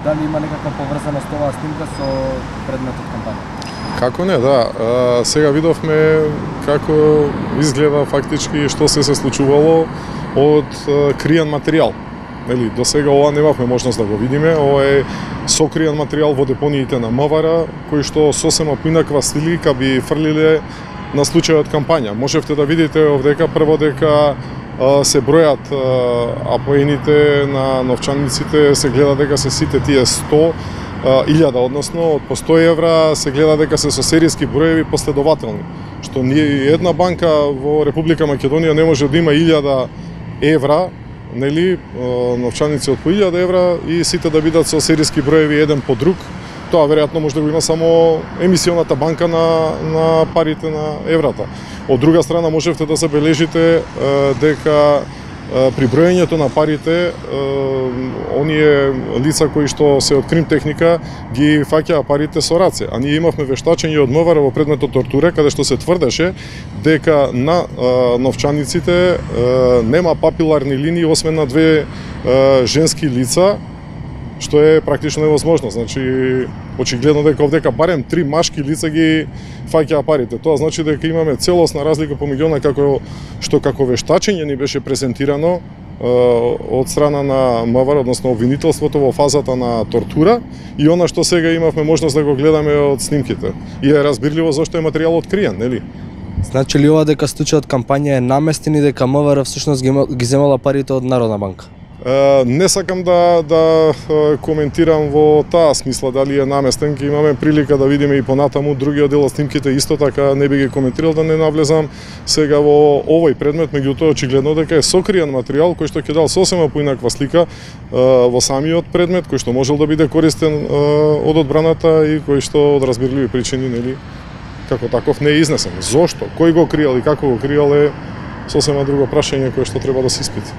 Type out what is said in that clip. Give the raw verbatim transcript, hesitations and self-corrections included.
дали има некаква поврзаност оваа снимка со предметот кампања? Како не, да. А, сега видовме како изгледа фактички што се се случувало од а, криен материјал. Нели, до сега ова немавме можност да го видиме. Ова е сокриен материјал во депониите на МВР, кој што сосема поинаква слика би фрлиле на случајот кампања. Можевте да видите овдека прво дека а, се бројат апоените на новчаниците, се гледа дека се сите тие сто илјада, односно од по сто евра се гледа дека се со серијски броеви последователни. Што ние една банка во Република Македонија не може да има илјада евра, нели, новчаници од по илјада евра и сите да бидат со серијски броеви еден по друг. Тоа веројатно може да го има само емисионата банка на, на парите на еврата. Од друга страна можевте да забележите дека при броењето на парите оние лица кои што се од крим техника ги фаќаа парите со раце, а ние имавме вештачење од МВР во предметот тортура каде што се тврдеше дека на новчаниците нема папиларни линии освен на две женски лица, што е практично невозможно. Значи, очигледно дека овдека барем три машки лица ги фаќаа парите. Тоа значи дека имаме целосна разлика помеѓу она како што како вештачење ни беше презентирано од страна на МВР, односно обвинителството во фазата на тортура, и она што сега имавме можност да го гледаме од снимките. И е разбирливо зашто е материјалот криен, нели? Значи ли ова дека случајот кампања е наместен и дека МВР всушност ги, ги земала парите од Народна банка? Не сакам да, да коментирам во таа смисла дали е наместен, ке имаме прилика да видиме и понатаму другиот дел од снимките, исто така не би ги коментирал да не навлезам сега во овој предмет, меѓутоа очигледно дека е сокриен материјал кој што ќе дал сосема поинаква слика во самиот предмет, кој што можел да биде користен од одбраната и кој што од разбирливи причини, нели, како таков не е изнесен. Зошто, кој го криел и како го криел е сосема друго прашање кое што треба да се испити.